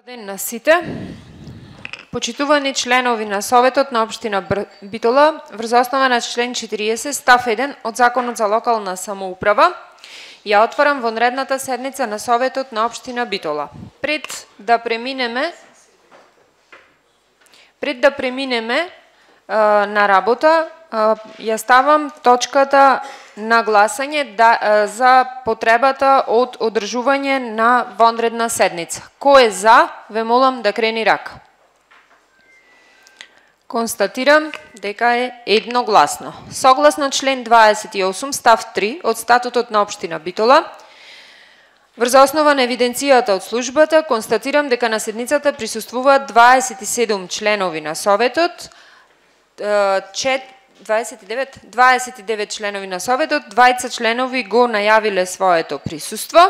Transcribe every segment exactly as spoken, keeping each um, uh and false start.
Ден на сите. Почитувани членови на Советот на општина Битола, врз основа на член четириесет став еден од Законот за локална самоуправа, ја отварам вонредната седница на Советот на општина Битола. Пред да преминеме пред да преминеме а, на работа, а, ја ставам точката на гласање да, а, за потребата од одржување на вонредна седница. Кој е за, ве молам да крени рака. Констатирам дека е едногласно. Согласно член дваесет и осум став три од Статутот на општина Битола, врз основа на евиденцијата од службата, констатирам дека на седницата присуствуваат дваесет и седум членови на Советот, дваесет и девет, дваесет и девет членови на Советот, двајца членови го најавиле своето присуство,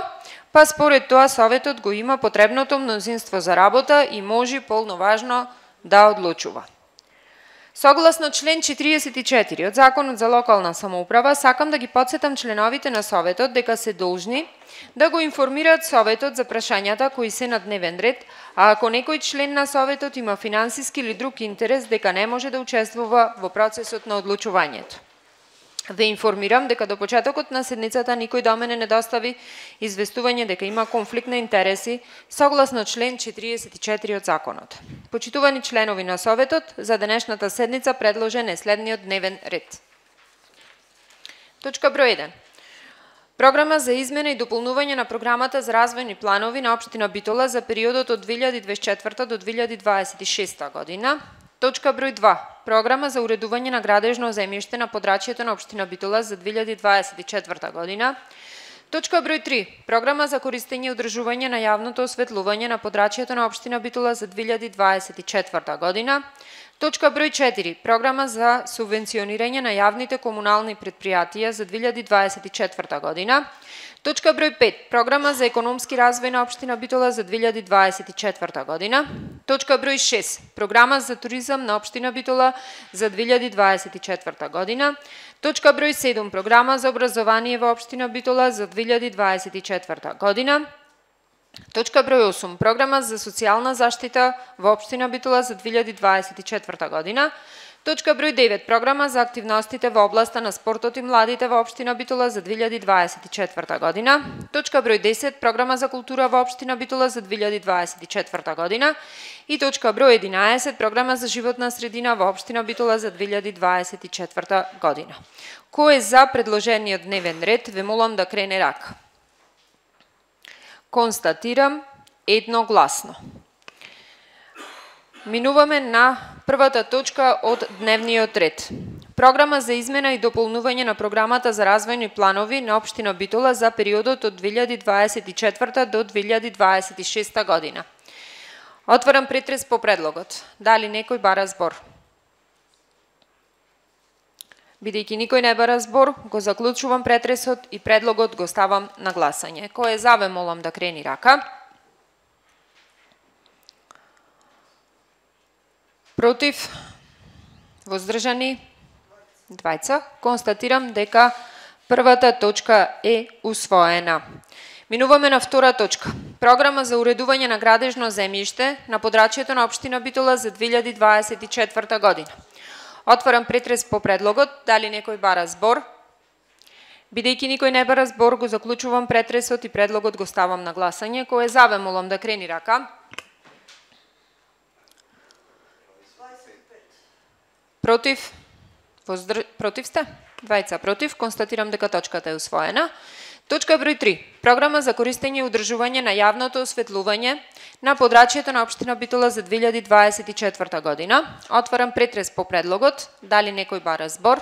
па според тоа Советот го има потребното мнозинство за работа и може полноважно да одлучува. Согласно член четириесет и четири од Законот за локална самоуправа, сакам да ги потсетам членовите на Советот дека се должни да го информираат Советот за прашањата кои се на дневен ред, а ако некој член на Советот има финансиски или друг интерес, дека не може да учествува во процесот на одлучувањето. Ве информирам дека до почетокот на седницата никој до мене не достави известување дека има конфликт на интереси согласно член четириесет и четири од Законот. Почитувани членови на Советот, за денешната седница предложен е следниот дневен ред. Точка број еден. Програма за измена и дополнување на програмата за развојни планови на општина Битола за периодот од две илјади дваесет и четврта до две илјади дваесет и шеста година. Точка број два. Програма за уредување на градежно земјиште на подрачјето на општина Битола за две илјади дваесет и четврта година. Точка број три. Програма за користење и одржување на јавното осветлување на подрачјето на општина Битола за две илјади дваесет и четврта година. Точка број четири. Програма за субвенционирање на јавните комунални предпријатија за две илјади дваесет и четврта година. Точка број пет. Програма за економски развој на општина Битола за две илјади дваесет и четврта година. Точка број шест. Програма за туризам на општина Битола за две илјади дваесет и четврта година. Точка број седум. Програма за образование во општина Битола за две илјади дваесет и четврта година. Точка број осум. Програма за социјална заштита во општина Битола за две илјади дваесет и четврта година. Точка број девет. Програма за активностите во областа на спортот и младите во општина Битола за две илјади дваесет и четврта година. Точка број десет. Програма за култура во општина Битола за две илјади дваесет и четврта година. И точка број единаесет. Програма за животна средина во општина Битола за две илјади дваесет и четврта година. Кој е за предложениот дневен ред, ве молам да крене рака. Констатирам едногласно. Минуваме на првата точка од дневниот ред. Програма за измена и дополнување на програмата за развојни планови на општина Битола за периодот од две илјади дваесет и четврта до две илјади дваесет и шеста година. Отварам претрес по предлогот. Дали некој бара збор? Бидејќи никој не бара збор, го заклучувам претресот и предлогот го ставам на гласање. Кој е за, ве молам да крени рака. Против? Воздржани? Двајца. Констатирам дека првата точка е усвоена. Минуваме на втора точка. Програма за уредување на градежно земјиште на подрачјето на општина Битола за две илјади дваесет и четврта година. Отварам претрес по предлогот. Дали некој бара збор? Бидејќи никој не бара збор, го заклучувам претресот и предлогот го ставам на гласање. Кој е за, ве молам да крени рака. Против? Воздр... Против сте? Двајца против. Констатирам дека точката е усвоена. Точка број три. Програма за користење и одржување на јавното осветлување на подрачјето на општина Битола за две илјади дваесет и четврта година. Отварам претрес по предлогот. Дали некој бара збор?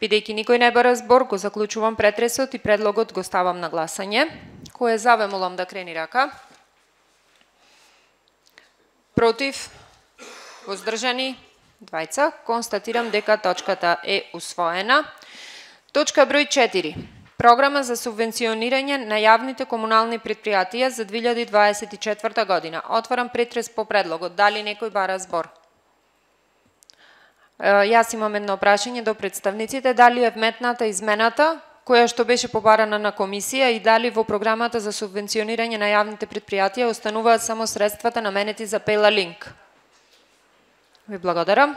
Бидејќи никој не бара збор, го заклучувам претресот и предлогот го ставам на гласање. Кој е за, ве молам да крени рака. Против? Воздржани? Двајца. Констатирам дека точката е усвоена. Точка број четири. Програма за субвенционирање на јавните комунални предпријатија за две илјади дваесет и четврта година. Отварам претрес по предлогот. Дали некој бара збор? Јас имам едно прашање до представниците. Дали е вметната измената која што беше побарана на комисија и дали во програмата за субвенционирање на јавните предпријатија остануваат само средствата наменети за Пела Линк? Ви благодарам.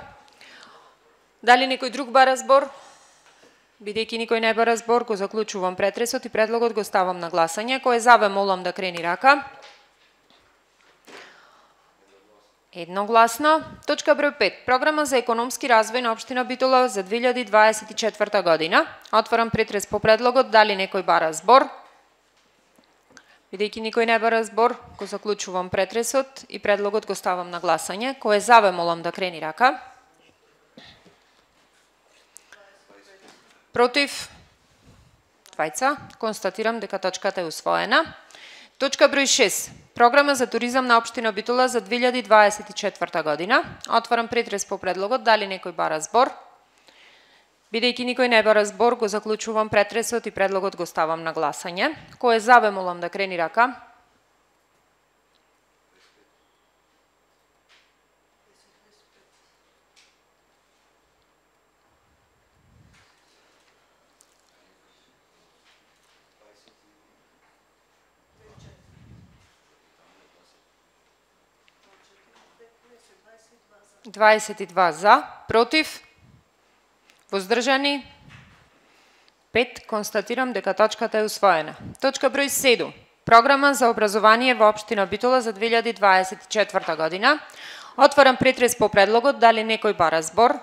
Дали некој друг бара збор? Бидејќи никој не бара збор, го заклучувам претресот и предлогот го ставам на гласање. Кој е за, ве молам да крени рака. Едногласно. Точка број пет. Програма за економски развој на општина Битола за две илјади дваесет и четврта година. Отварам претрес по предлогот. Дали некој бара збор? Бидејќи никој не бара збор, го заклучувам претресот и предлогот го ставам на гласање. Кој е за, ве молам да крени рака. Против? Двајца. Констатирам дека точката е усвоена. Точка број шест. Програма за туризам на општина Битола за две илјади дваесет и четврта година. Отварам претрес по предлогот. Дали некој бара збор? Бидејќи никој не бара збор, го заклучувам претресот и предлогот го ставам на гласање. Кој е за, ве молам да крени рака. дваесет и два за, против, воздржани, пет. Констатирам дека точката е усвоена. Точка број седум. Програма за образование во општина Битола за две илјади дваесет и четврта година. Отварам претрес по предлогот. Дали некој бара збор?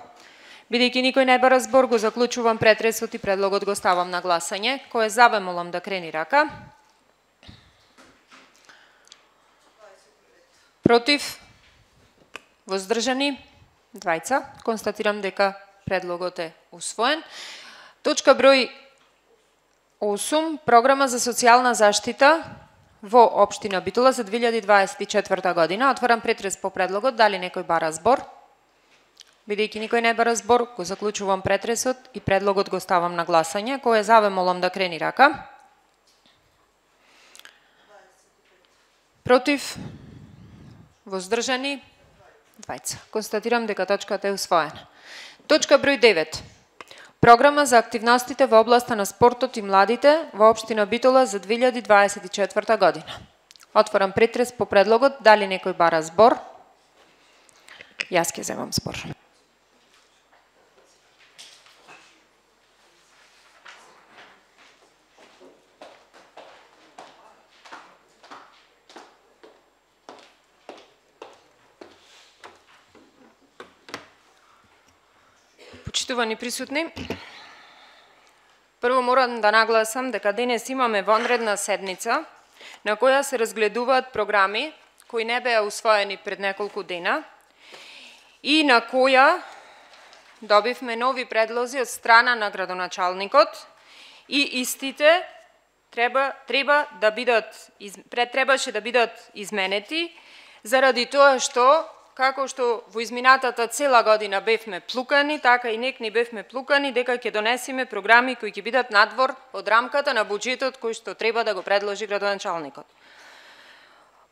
Бидејќи никој не бара збор, го заклучувам претресот и предлогот го ставам на гласање. Кој е за, ве молам да крени рака. Против? Воздржани? Двајца. Констатирам дека предлогот е усвоен. Точка број осум. Програма за социјална заштита во општина Битола за две илјади дваесет и четврта година. Отварам претрес по предлогот. Дали некој бара збор? Бидејќи никој не бара збор, го заклучувам претресот и предлогот го ставам на гласање. Кој е за, ве молам да крени рака. Против? Воздржани? Двајца. Констатирам дека точката е усвоена. Точка број девет. Програма за активностите во областа на спортот и младите во општина Битола за две илјади дваесет и четврта година. Отварам претрес по предлогот. Дали некој бара збор? Јас ќе земам збор. Почитувани присутни, прво морам да нагласам дека денес имаме вонредна седница на која се разгледуваат програми кои не беа усвоени пред неколку дена и на која добивме нови предлози од страна на градоначалникот и истите треба треба да бидат пред требаше да бидат изменети заради тоа што како што во изминатата цела година бевме плукани, така и нек ни бевме плукани дека ќе донесеме програми кои ќе бидат надвор од рамката на буџетот кој што треба да го предложи градоначалникот.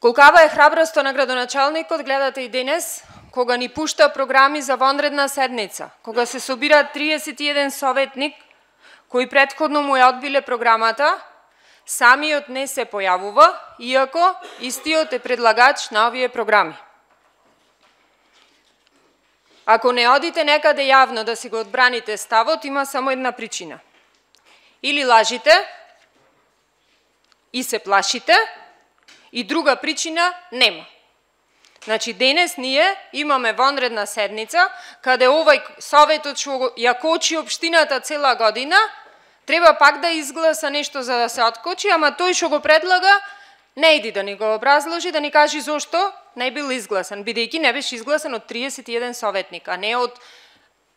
Колкава е храброста на градоначалникот, гледате и денес, кога ни пушта програми за вонредна седница, кога се собира триесет и еден советник кои претходно му ја одбиле програмата, самиот не се појавува, иако истиот е предлагач на овие програми. Ако не одите некаде јавно да си го одбраните ставот, има само една причина. Или лажите и се плашите, и друга причина нема. Значи, денес ние имаме вонредна седница, каде овај советот што ја кочи општината цела година, треба пак да изгласа нешто за да се откочи, ама тој што го предлага, не иди да ни го образложи, да ни кажи зошто не бил изгласан, бидејќи не беше изгласан од триесет и еден советник, а не од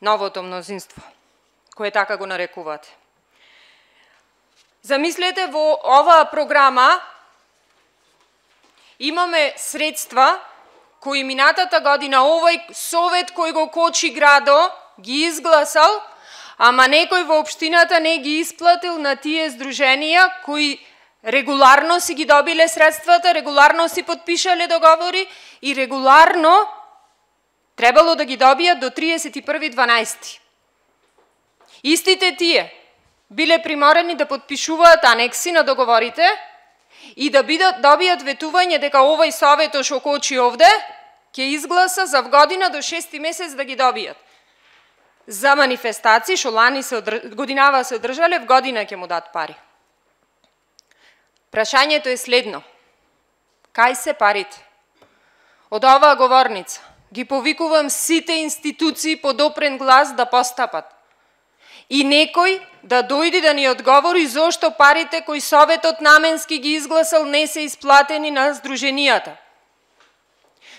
новото мнозинство, кое така го нарекувате. Замислете, во оваа програма имаме средства кои минатата година овој совет кој го кочи градо ги изгласал, ама некој во општината не ги исплатил на тие здруженија кои регуларно си ги добиле средствата, регуларно си подпишале договори и регуларно требало да ги добијат до триесет и први дванаести. Истите тие биле приморени да подпишуваат анекси на договорите и да бидат добијат ветување дека овој совет што кочи овде ќе изгласа за година до шести месец да ги добијат. За манифестации што лани се одрж... годинава се одржале, в година ќе му дат пари. Прашањето е следно. Кај се парите? Од оваа говорница ги повикувам сите институции под опрен глас да постапат. И некој да дојде да ни одговори зошто парите кои Советот наменски ги изгласал не се исплатени на здруженијата.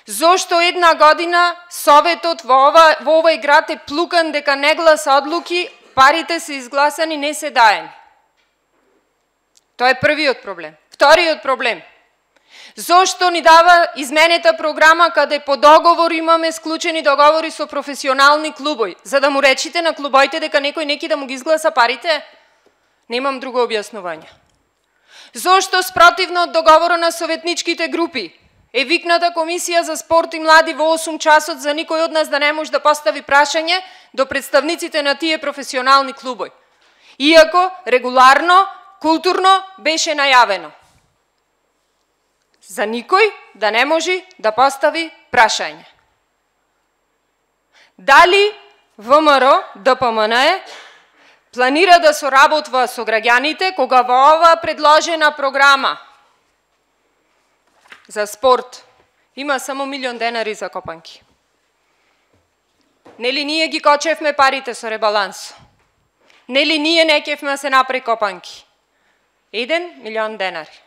Зошто една година Советот во, ова, во овој град е плукан дека не гласа одлуки, парите се изгласани, не се даени. Тоа е првиот проблем. Вториот проблем. Зошто ни дава изменета програма каде по договор имаме склучени договори со професионални клубови? За да му речите на клубоите дека некој неки да му ги изгласа парите? Немам друго објаснување. Зошто спротивно од договора на советничките групи е викната Комисија за спорт и млади во осум часот за никој од нас да не може да постави прашање до представниците на тие професионални клубови? Иако регуларно, културно беше најавено. За никој да не може да постави прашање. Дали ВМРО ДПМН планира да соработува со граѓаните кога во ова предложена програма за спорт има само милион денари за копанки? Нели ние ги кочевме парите со ребаланс? Нели ние не кевме да се направи копанки? Еден милион денари.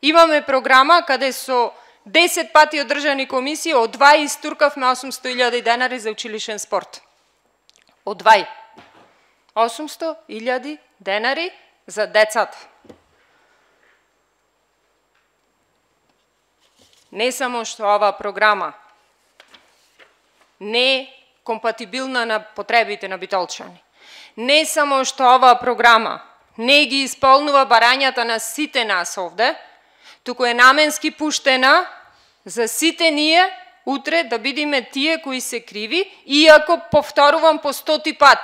Имаме програма каде со десет пати одржани комисии, од двај истуркавме осумсто илјади денари за училишен спорт. Од двај. осумсто илјади денари за децата. Не само што оваа програма не е компатибилна на потребите на битолчани. Не само што оваа програма не ги исполнува барањата на сите нас овде, туку е наменски пуштена за сите ние утре да бидиме тие кои се криви, иако повторувам по стоти пат.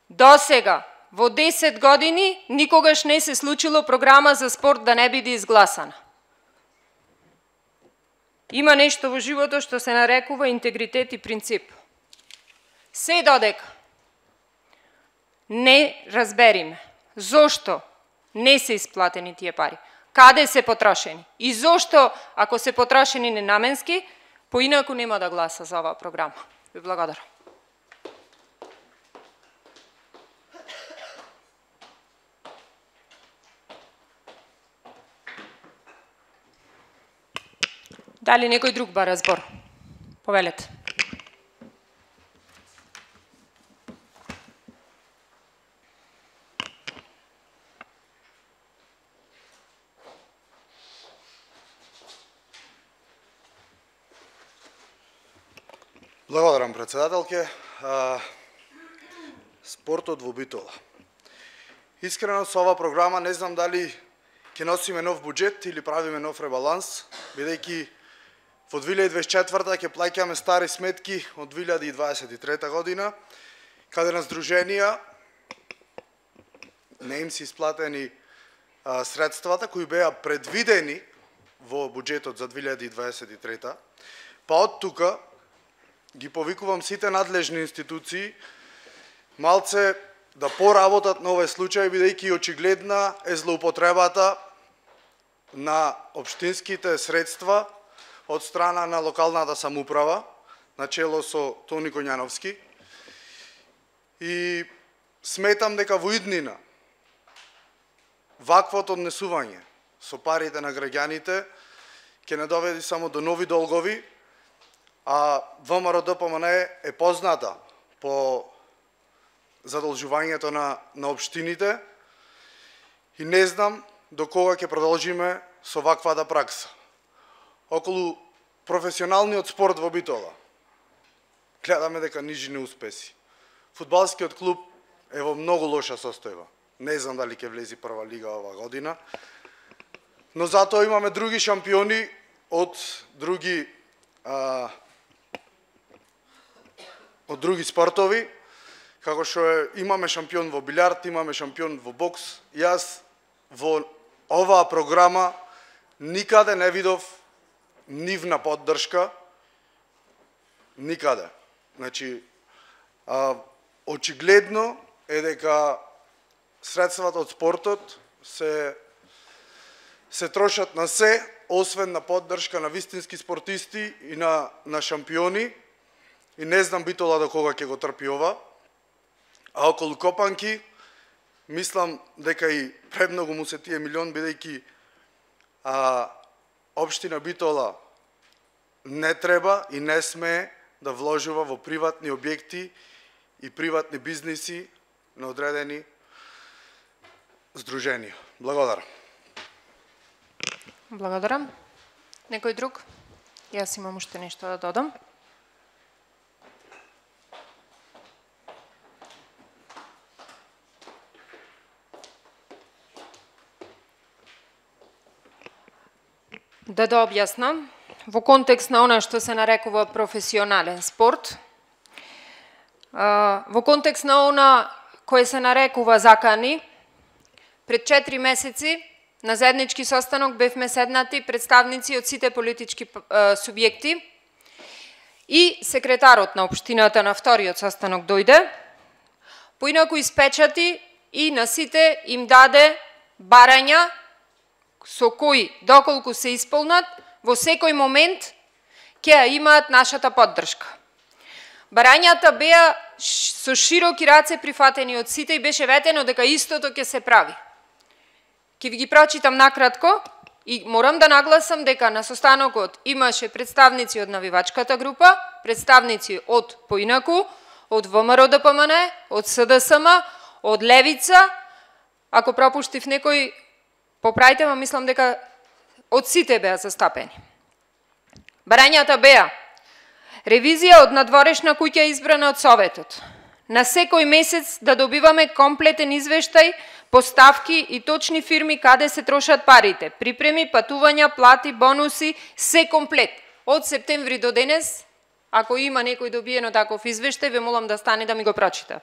До сега, во десет години, никогаш не се случило програма за спорт да не биде изгласана. Има нешто во животот што се нарекува интегритет и принцип. Се додека не разбериме зошто не се исплатени тие пари, каде се потрошени и зошто, ако се потрошени ненаменски, поинаку нема да гласа за оваа програма. Ви благодарам. Дали некој друг бара збор? Повелете. Благодарам, председателке. Спортот во Битола. Искрено со оваа програма не знам дали ќе носиме нов буџет или правиме нов ребаланс, бидејќи во две илјади дваесет и четврта ќе плаќаме стари сметки од две илјади дваесет и трета година, каде на здруженија не им се исплатени а, средствата кои беа предвидени во буџетот за две илјади дваесет и трета, па од тука ги повикувам сите надлежни институции малце да поработат на овој случај, бидејќи очигледна е злоупотребата на општинските средства од страна на локалната самоуправа, на чело со Тони Коњановски. И сметам дека во иднина ваквото однесување со парите на граѓаните ќе не доведе само до нови долгови, а ВМРО ДПМН е позната по задолжувањето на, на општините и не знам до кога ќе продолжиме со ваквата пракса. Околу професионалниот спорт во Битола гледаме дека нижи неуспеси. Фудбалскиот клуб е во многу лоша состојба. Не знам дали ќе влези прва лига оваа година, но затоа имаме други шампиони од други а, од други спортови, како што е, имаме шампион во билјард, имаме шампион во бокс, јас во оваа програма никаде не видов нивна поддршка, никаде. Значи, а, очигледно е дека средствата од спортот се се трошат на се, освен на поддршка на вистински спортисти и на на шампиони. И не знам Битола до кога ќе го трпи ова. А околу Копанки, мислам дека и премногу му се тие милион, бидејќи а, општина Битола не треба и не смее да вложува во приватни објекти и приватни бизниси на одредени здруженија. Благодарам. Благодарам. Некој друг? Јас имам уште нешто да додам. Да да објаснам, во контекст на она што се нарекува професионален спорт, во контекст на она кое се нарекува закани, пред четири месеци на заеднички состанок бевме седнати представници од сите политички субјекти и секретарот на општината на вториот состанок дојде, поинаку испечати и на сите им даде барања со кои, доколку се исполнат, во секој момент ќе ја имаат нашата поддршка. Барањата беа со широки раце прифатени од сите и беше ветено дека истото ќе се прави. Ќе ви ги прочитам накратко и морам да нагласам дека на состанокот имаше представници од навивачката група, представници од поинаку, од ВМРО-ДПМН, од СДСМ, од Левица, ако пропуштив некој, поправите, ма мислам дека од сите беа застапени. Барањата беа ревизија од надворешна куќа избрана од Советот. На секој месец да добиваме комплетен извештај, поставки и точни фирми каде се трошат парите. Припреми, патувања, плати, бонуси, се комплет. Од септември до денес, ако има некој добиено таков извештај, ве молам да стане да ми го прочита.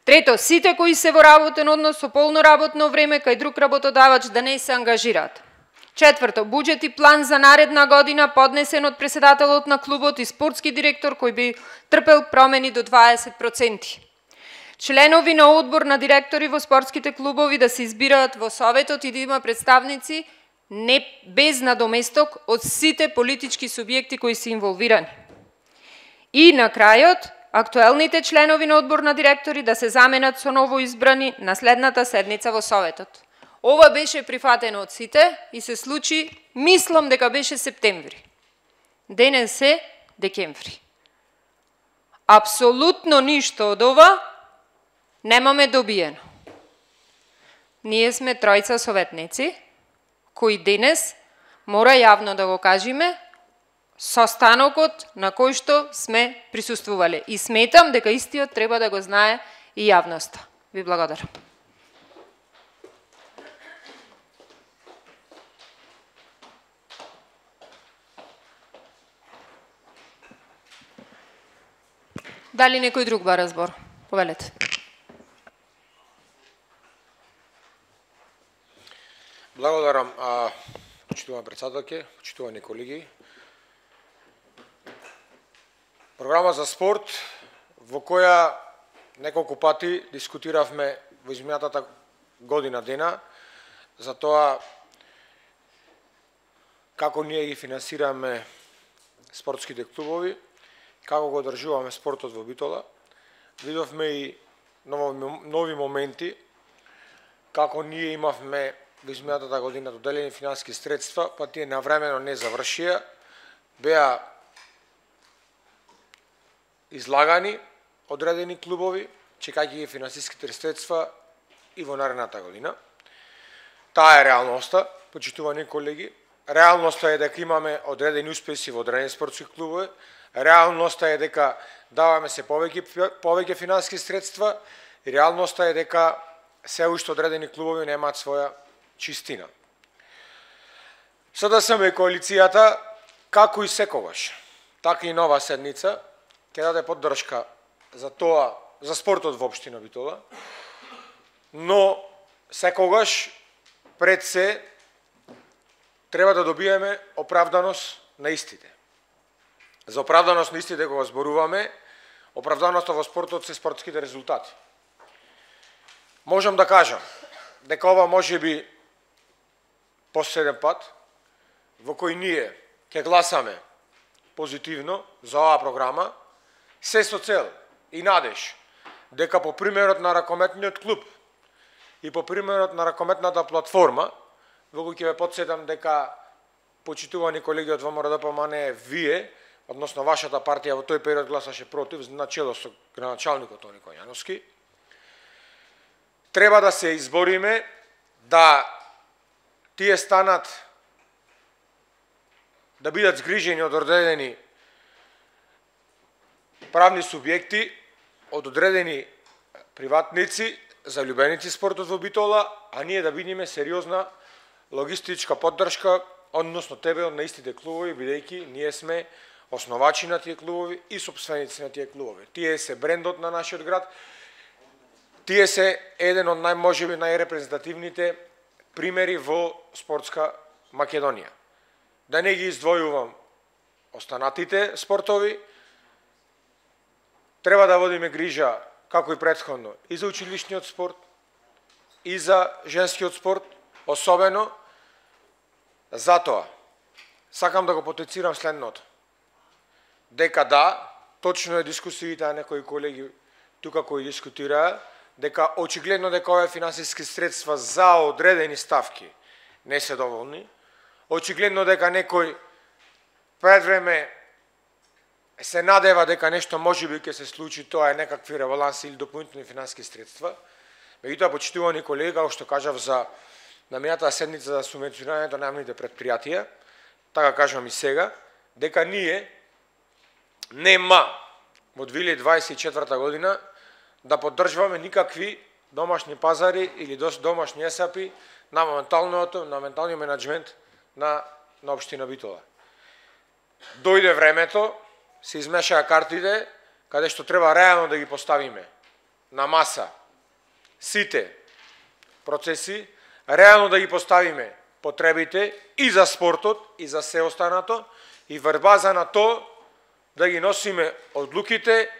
Трето, сите кои се во работен однос со полно работно време кај друг работодавач да не се ангажираат. Четврто, буџет и план за наредна година поднесен од председателот на клубот и спортски директор кој би трпел промени до дваесет проценти. Членови на одбор на директори во спортските клубови да се избираат во Советот и да има представници не без надоместок од сите политички субјекти кои се инволвирани. И на крајот, актуелните членови на одбор на директори да се заменат со ново избрани на следната седница во Советот. Ова беше прифатено од сите и се случи, мислам дека беше септември. Денес е декември. Апсолутно ништо од ова немаме добиено. Ние сме тројца советници, кои денес мора јавно да го кажеме состанокот на кој што сме присуствувале. И сметам дека истиот треба да го знае и јавноста. Ви благодарам. Дали некој друг бара збор? Повелете. Благодарам, почитувани председателки, почитувани колеги. Програма за спорт, во која неколку пати дискутиравме во изминатата година дена, за тоа како ние ги финансираме спортските клубови, како го одржуваме спортот во Битола. Видовме и нови моменти, како ние имавме во изминатата година доделени финансиски средства, па тие навремено не завршија, беа излагани одредени клубови, чекајќи ги финансиските средства и во наредната година. Таа е реалноста, почитувани колеги. Реалноста е дека имаме одредени успеси во одредени спортски клубови. Реалноста е дека даваме се повеќе повеќе финансиски средства и реалноста е дека се уште одредени клубови немаат своја чистина. СДСМ и коалицијата, како и секогаш, така и нова седница, ќе даде поддршка за тоа за спортот во општина Битола, но секогаш пред се треба да добиеме оправданост на истите. За оправданост на истите кога зборуваме, оправданоста во спортот се спортските резултати. Можам да кажам дека ова може би последен пат во кој ние ќе гласаме позитивно за оваа програма, се со цел и надеж дека по примерот на ракометниот клуб и по примерот на ракометната платформа, во кој ќе ве потсетам дека почитувани колеги од ВМРО-ДПМНЕ, вие, односно вашата партија во тој период гласаше против, начело со граначалникот Тони Коњановски, треба да се избориме да тие станат да бидат згрижени од одредени правни субјекти, од одредени приватници, залюбеници спортот во Битола, а ние да бидеме сериозна логистичка поддршка, односно тебе на истите клубови, бидејќи ние сме основачи на тие клубови и сопственици на тие клубови. Тие се брендот на нашиот град, тие се еден од најможеби најрепрезентативните примери во спортска Македонија. Да не ги издвојувам останатите спортови, треба да водиме грижа, како и претходно, и за училишниот спорт, и за женскиот спорт, особено. Затоа, сакам да го потенцирам следното. Дека да, точно е дискусиите на некои колеги тука кои дискутираа, дека очигледно дека овие финансиски средства за одредени ставки не се доволни, очигледно дека некој пред време се надева дека нешто можеби ќе се случи, тоа е некакви ребаланси или дополнителни финансиски средства. Меѓутоа, почитувани колеги, како што кажав за на минатата седница за субвенционирањето на јавните претпријатија, така кажам и сега, дека ние нема во две илјади дваесет и четврта година да поддржуваме никакви домашни пазари или домашни есапи на моменталниот на моменталниот менаџмент на на општина Битола. Дојде времето, се измешаа картите, каде што треба реално да ги поставиме на маса сите процеси, реално да ги поставиме потребите и за спортот и за се останато, и врз база на тоа да ги носиме одлуките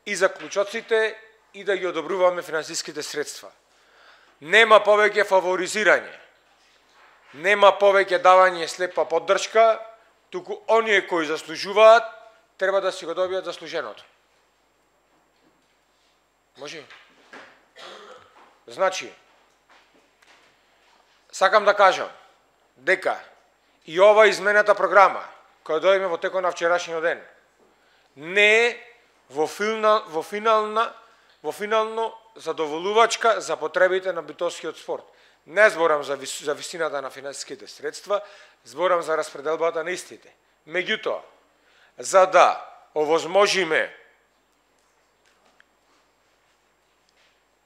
и заклучоците и да ги одобруваме финансиските средства. Нема повеќе фаворизирање, нема повеќе давање слепа поддршка, туку оние кои заслужуваат треба да си го добијат заслуженото. Може? Значи, сакам да кажам дека и ова измената програма, која дојме во текот на вчерашниот ден, не е во, филна, во, финална, во финално задоволувачка за потребите на битолскиот спорт. Не зборам за, вис, за висината на финансиските средства, зборам за распределбата на истите. Меѓутоа, за да овозможиме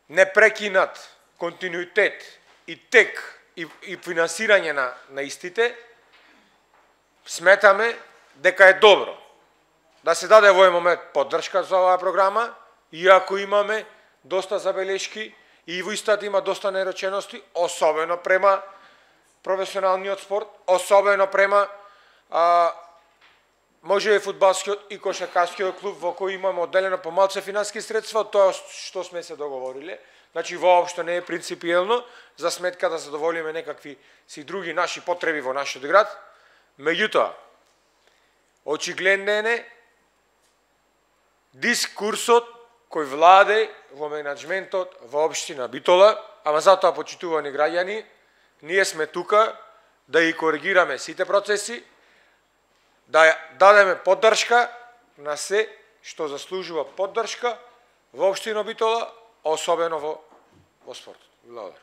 непрекинат континуитет и тек и, и финансирање на, на истите, сметаме дека е добро да се даде во овој момент поддршка за оваа програма, иако имаме доста забелешки и во истата има доста неречености, особено према професионалниот спорт, особено према а, може и фудбалскиот и кошаркарскиот клуб во кој имаме одделено помалце финансиски средства од тоа што сме се договориле. Значи воопшто не е принципиелно за сметка да задоволиме некакви си други наши потреби во нашиот град. Меѓутоа, очигледен е дискурсот кој владе во менаџментот во општина Битола, ама затоа, почитувани граѓани, ние сме тука да ги коригираме сите процеси, да дадеме поддршка на се што заслужува поддршка во општина Битола, особено во, во спортот. Благодарам.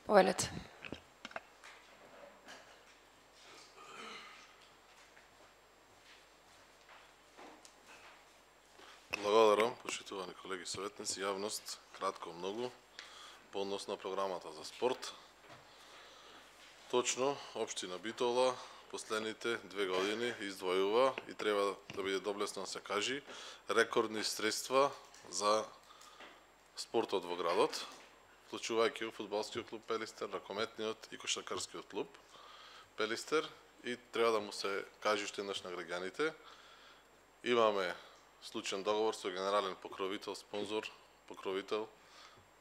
Повелете. Благодарам, почитувани колеги советници, јавност, кратко многу, по однос на програмата за спорт. Точно, општина Битола последните две години издвојува и треба да биде доблесно да се кажи рекордни средства за спортот во градот, вклучувајќи фудбалскиот клуб Пелистер, ракометниот и кошаркарскиот клуб Пелистер, и треба да му се каже уште еднаш на граѓаните. Имаме случаен договор со генерален покровител, спонзор, покровител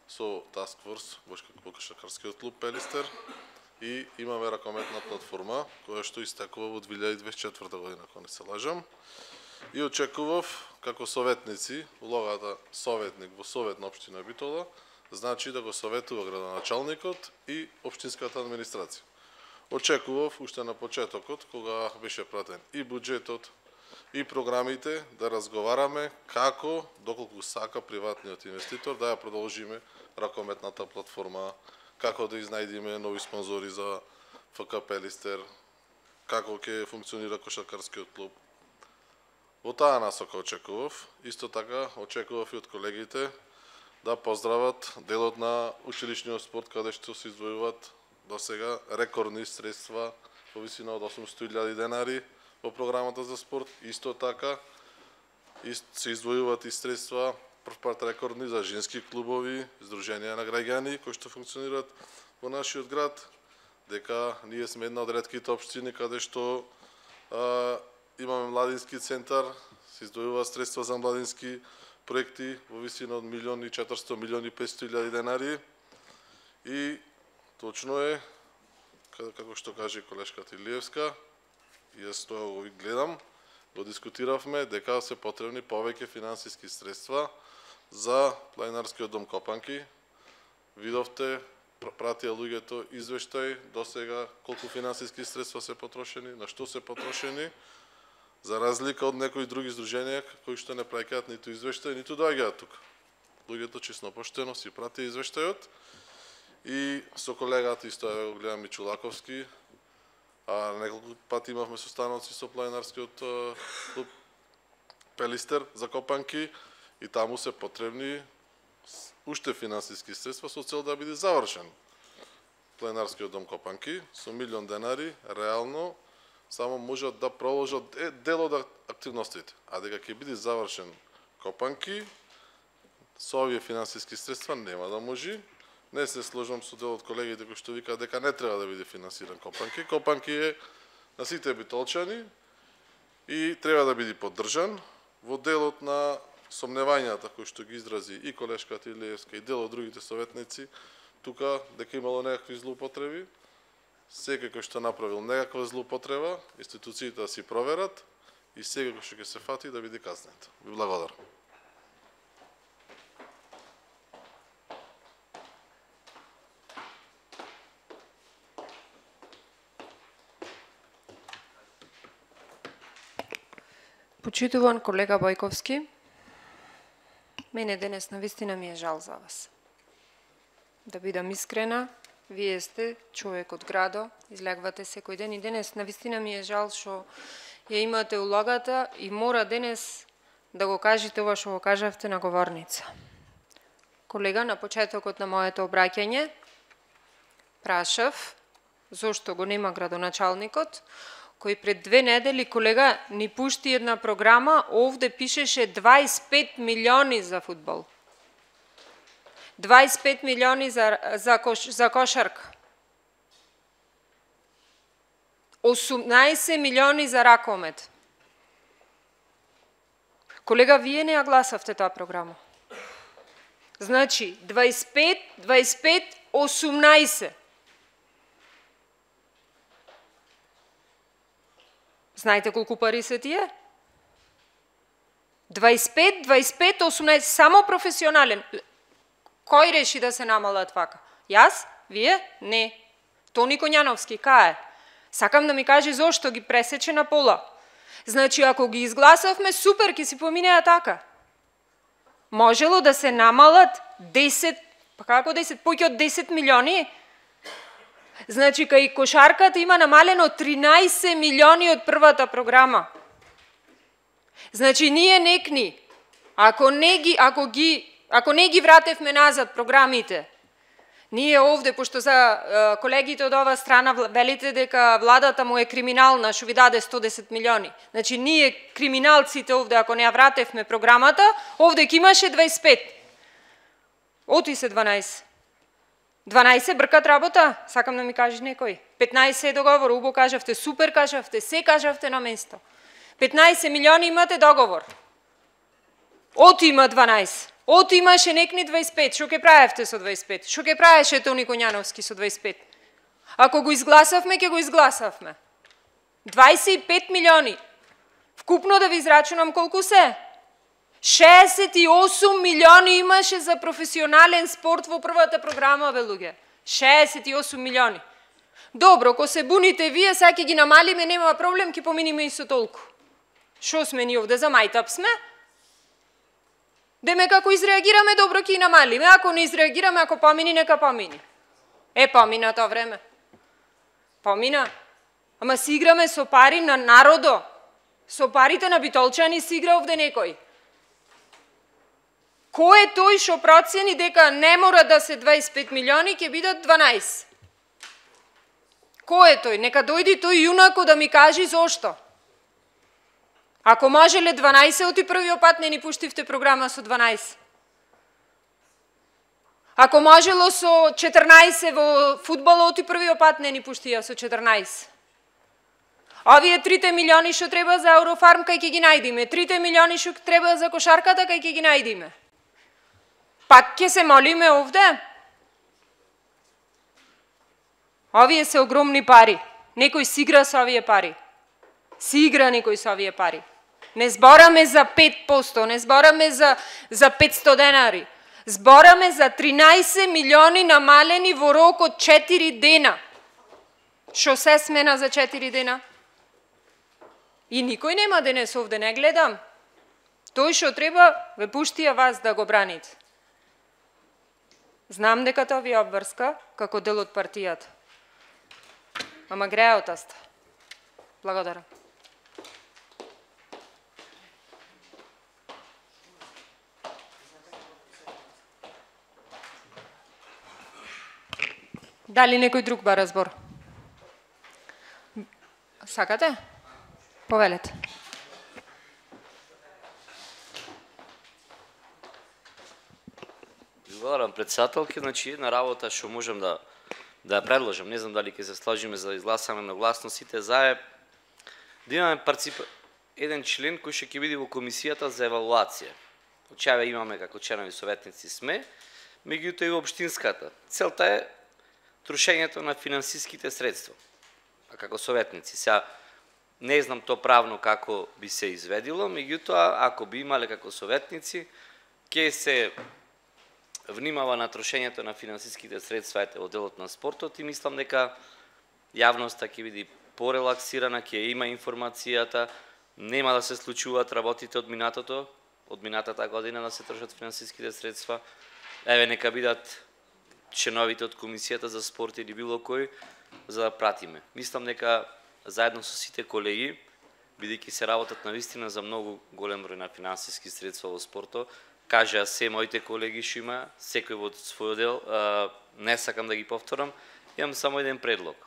со Task Force во кошаркарскиот клуб Пелистер, и имаме ракометна платформа која што истекува во две илјади дваесет и четврта година, ако не се лажам. И очекував како советници, улогата советник во совет на општина Битола, значи да го советува градоначалникот и општинската администрација. Очекував уште на почетокот, кога беше пратен и буџетот, и програмите, да разговараме како, доколку сака приватниот инвеститор, да ја продолжиме ракометната платформа, како да изнајдиме нови спонзори за Ф К Пелистер, како ќе функционира кошаркарскиот клуб. Во таа насока очекував. Исто така очекував и од колегите да поздрават делот на училишниот спорт, каде што се издвојуваат до сега рекордни средства во висина од осумстотини илјади денари во програмата за спорт. Исто така се издвојуваат и средства првпат рекордни за женски клубови, здруженија на граѓани кои што функционираат во нашиот град, дека ние сме една од ретките општини каде што а, имаме младински центар, се издвојуваат средства за младински проекти во висина од милион и четиристотини милиони и петстотини илјади денари. И точно е, како што каже колешката Илиевска, јас тоа го гледам, го дискутиравме дека се потребни повеќе финансиски средства за планинарскиот дом Копанки. Видовте, пратија луѓето извештај до сега колку финансиски средства се потрошени, на што се потрошени, за разлика од некои други здруженија кои што не праќаат ниту извештај, ниту доаѓаат тука. Луѓето честно поштено си пратија извештајот. И со колегата исто го гледам и Чулаковски, а неколку пати имавме состаноци со планинарскиот клуб Пелистер за Копанки, и таму се потребни уште финансиски средства со цел да биде завршен планинарскиот дом Копанки со милион денари. Реално само можат да продолжат дел од активностите, а дека ќе биде завршен Копанки со овие финансиски средства нема да може. Не се сложам со дел од колегите кои што викаат дека не треба да биде финансиран Копанки. Копанки е на сите битолчани и треба да биде поддржан. Во делот на сомневањата кои што ги изрази и колешката Илиевска и дел од другите советници, тука дека имало некакви злоупотреби, секој кој што направил некаква злоупотреба, институциите да си проверат и секој кој што ќе се фати да биде казнет. Ви благодарам. Почитуван колега Бојковски, мене денес навистина ми е жал за вас. Да бидам искрена, вие сте човек од градо, излегвате секој ден и денес навистина ми е жал што ја имате улогата и мора денес да го кажете ова што го кажавте на говорница. Колега, на почетокот на моето обраќање прашав зошто го нема градоначалникот, кој пред две недели, колега, ни пушти една програма, овде пишеше дваесет и пет милиони за фудбал. дваесет и пет милиони за, за, кош, за кошарка. осумнаесет милиони за ракомет. Колега, вие не ја гласавте таа програма. Значи, дваесет и пет, дваесет и пет, осумнаесет. Знаете колку пари се тие? дваесет и пет, дваесет и пет, осумнаесет, само професионален. Кој реши да се намалат вака? Јас? Вие? Не. Тони Коњановски, кај е? Сакам да ми каже зошто ги пресече на пола. Значи, ако ги изгласавме, супер, ќе си поминеа така. Можело да се намалат десет, па како десет, поќе од десет милиони? Значи, кај кошарката има намалено тринаесет милиони од првата програма. Значи, ние некни, ако не ги, ако ги, ако не ги вратевме назад програмите, Ние овде, пошто за колегите од оваа страна велите дека владата му е криминална, што ви даде сто десет милиони. Значи, ние криминалците овде, ако не ја вратевме програмата, овде ќе имаше дваесет и пет. Оти се дванаесет. дванаесет бркат работа, сакам да ми кажеш некој. петнаесет е договор, убо кажавте, супер кажавте, се кажавте на место. петнаесет милиони имате договор. Оти има дванаесет. Оти имаше некни дваесет и пет. Шо ке правевте со дваесет и пет? Шо ке правеше Тони Коњановски со дваесет и пет? Ако го изгласавме, ќе го изгласавме. дваесет и пет милиони. Вкупно да ви израчунам колку се? шеесет и осум милиони имаше за професионален спорт во првата програма, бе луѓе. шеесет и осум милиони. Добро, ко се буните вие, сега ќе ги намалиме, нема проблем, ќе поминиме и со толку. Шо сме ни овде, за мајтап сме? Деме како изреагираме, добро ќе и намалиме, ако не изреагираме, ако помини, нека помини. Е, помина тоа време. Помина. Ама си играме со пари на народо. Со парите на битолчани си игра овде некој. Кој е тој што процени дека не мора да се дваесет и пет милиони, ќе бидат дванаесет? Кој е тој? Нека дојди тој јунако да ми кажи зошто. Ако можеле дванаесет, оти првиот пат не ни пуштивте програма со дванаесет. Ако можело со четрнаесет во фудбал, оти првиот пат не ни пуштија со четрнаесет. Овие трите милиони што треба за Еврофарм, кај ќе ги најдиме. Трите милиони што треба за кошарката, кај ќе ги најдиме. Пак ќе се молиме овде? Овие се огромни пари. Некој си игра со овие пари. Си игра некој со овие пари. Не збораме за пет проценти, не збораме за, за петстотини денари. Збораме за тринаесет милиони намалени во рок од четири дена. Шо се смена за четири дена? И никој нема денес овде, не гледам. Тој што треба, ве пуштија вас да го браните. Знам дека тоа ви е обврска, како дел од партијата. Ама греа од таста. Благодарам. Дали некој друг бара збор? Сакате? Повелете. Благодарам, председателки. Значи, една работа што можам да да ја предложам, не знам дали ќе се сложиме за да изгласаме на гласностите, за е да имаме парцип... еден член кој што ќе биде во комисијата за евалуација. Очеве имаме како членови советници сме, меѓутоа и во општинската. Целта е трошењето на финансиските средства. А како советници, сега не знам то правно како би се изведило, меѓутоа ако би имале како советници, ќе се внимава на трошењето на финансиските средства во делот на спортот и мислам дека јавноста ќе биде порелаксирана, ќе има информацијата, нема да се случуваат работите од минатото, од минатата година да се трошат финансиските средства. Еве нека бидат членовите од комисијата за спорт или било кој за да пратиме. Мислам дека заедно со сите колеги, бидејќи се работат навистина за многу голем број на финансиски средства во спортот, кажа се моите колеги што има, секој во свој дел, а, не сакам да ги повторам, имам само еден предлог.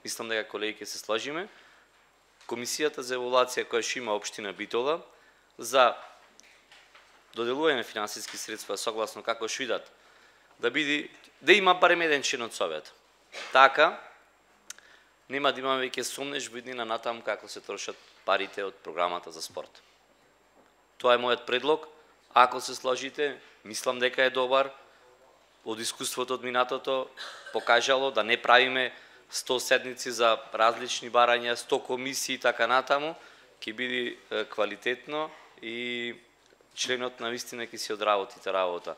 Мислам дека колеги ќе се сложиме. Комисијата за евалуација која што има општина Битола за доделување на финансиски средства согласно како што идат, да биде да има барем еден член од совет. Така нема да имаме веќе сомнеш во иднина натаму како се трошат парите од програмата за спорт. Тоа е мојот предлог. Ако се сложите, мислам дека е добар. Од искуството од минатото покажало да не правиме сто седници за различни барања, сто комисии и така натаму, ќе биде квалитетно и членот на вистина ќе си одработите работа.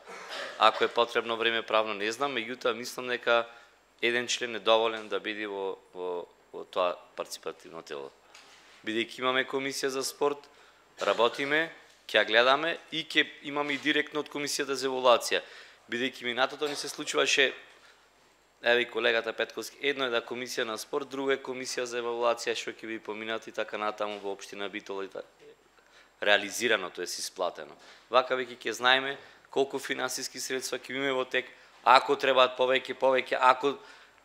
Ако е потребно време правно не знам, меѓутоа мислам дека еден член е доволен да биде во, во, во тоа парципативно тело. Бидејќи имаме комисија за спорт, работиме, ќе ја гледаме и ќе имаме и директно од комисијата за евалуација. Бидејќи минатото ни се случуваше, еве колегата Петковски, едно е да комисија на спорт, друго е комисија за евалуација што ќе биде поминати и така натаму во општина Битола и така. Реализирано, тоа е исплатено. Вака веќе ќе знаеме колку финансиски средства ќе имаме во тек, Ако требаат повеќе, повеќе, ако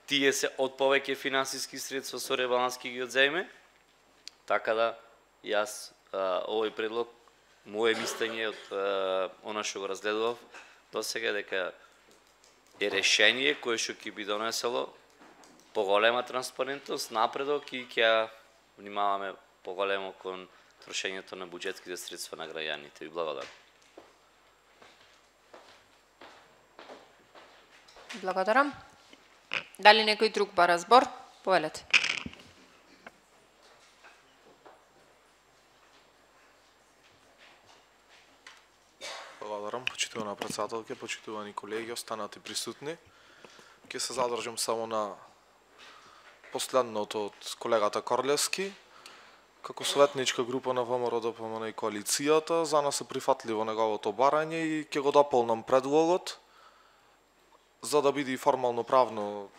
тие се од повеќе финансиски средства со ребаланс ќе ги одземе, така да јас а, овој предлог, моje мислење од а, она што го разгледував до сега, дека е решение кое што ќе би донесело поголема транспарентност, напредок и ќе внимаваме поголемо кон трошењето на буџетските средства на граѓаните. Ви благодарам. Благодарам. Дали некој друг бара збор? Повелете. Благодарам, почитувана председателке, почитувани колеги, останати присутни. Ќе се задржам само на последното од колегата Корлевски. Како советничка група на ВМРО Д П М Н и коалицијата, за нас е прифатливо неговото барање и ќе го дополнам предлогот, за да биде формално правно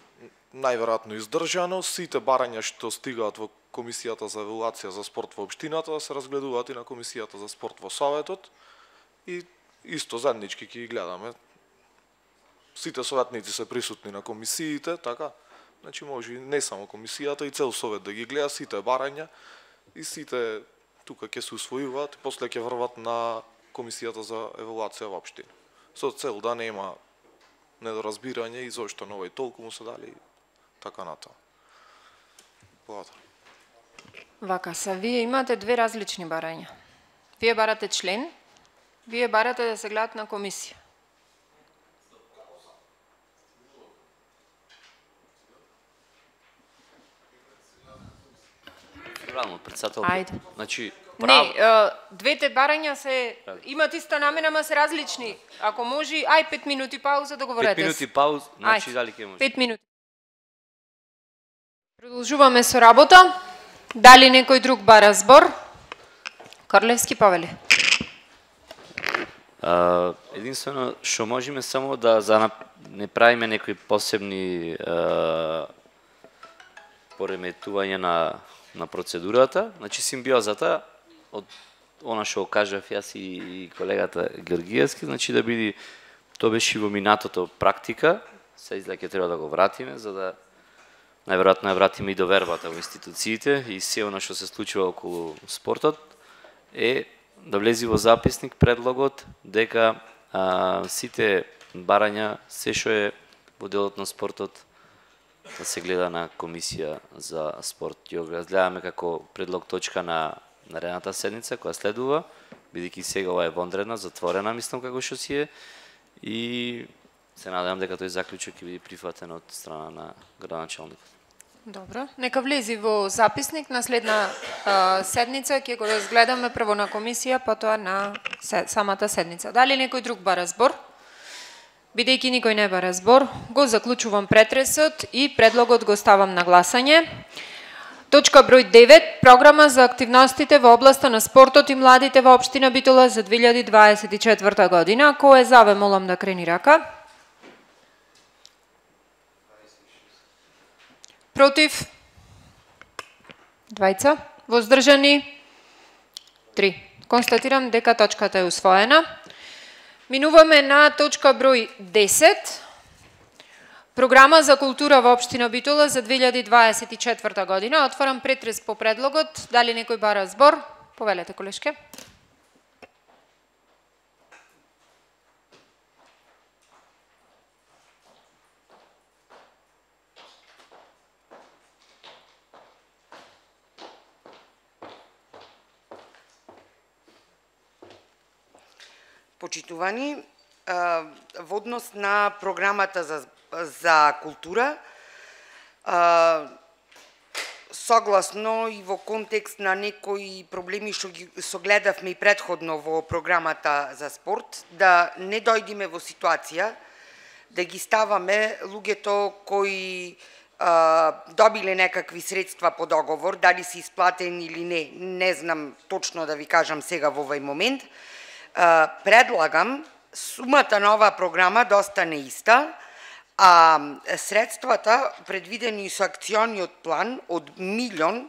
најверојатно издржано. Сите барања што стигаат во Комисијата за евалуација за спорт во општината да се разгледуваат и на Комисијата за спорт во Советот и исто заеднички ќе ги гледаме. Сите советници се присутни на комисиите, така? Значи може и не само комисијата, и цел совет да ги гледа сите барања и сите тука ќе се усвојуваат и после ќе врват на Комисијата за евалуација во општина. Со цел да нема недоразбирање и зошто на овој толку му се дали така натаму. Благодарам. Вака са, вие имате две различни барања. Вие барате член, вие барате да се гледат на комисија. Правилно, председател. Ајде. Значи, прав... Не, е, двете барања се имат иста намена, ама се различни. Ако може, ај пет минути пауза да говорите. Пет минути пауз, значи дали ќе може? Пет минути. Продолжуваме со работа. Дали некој друг бара збор? Корлевски, повели. Uh, единствено што можеме само да за не правиме некои посебни uh, пореметувања на на процедурата, значи симбиозата од она што кажав јас и колегата Георгиевски, значи да биде тоа беше во минатото практика, се изгледа ќе треба да го вратиме за да најверојатно ја вратиме и довербата во институциите и се она што се случува околу спортот е да влези во записник предлогот дека а, сите барања се што е во делот на спортот да се гледа на комисија за спорт. Ја го разгледаме како предлог точка на наредната седница која следува, бидејќи сега ова е вонредна, затворена, мислам како што си е и се надевам дека тој заклучок ќе биде прифатен од страна на градоначалникот. Добро, нека влези во записник на следна а, седница, ќе го разгледаме прво на комисија, потоа на се, самата седница. Дали некој друг бара збор? Бидејќи никој не бара збор, го заклучувам претресот и предлогот го ставам на гласање. Точка број девет, програма за активностите во областа на спортот и младите во општина Битола за две илјади дваесет и четврта година. Кој е за, ве молам да крени рака. Против? Двајца. Воздржани? Три. Констатирам дека точката е усвоена. Минуваме на точка број десет. Програма за култура во општина Битола за две илјади дваесет и четврта година. Отварам претрес по предлогот. Дали некој бара збор? Повелете, колешке. Почитувани, во однос на програмата за, за култура, согласно и во контекст на некои проблеми што ги согледавме и предходно во програмата за спорт, да не дојдеме во ситуација да ги ставаме луѓето кои а, добиле некакви средства по договор, дали се исплатени или не, не знам точно да ви кажам сега во овој момент. Uh, предлагам сумата на оваа програма да остане иста, а средствата предвидени со акциониот план од милион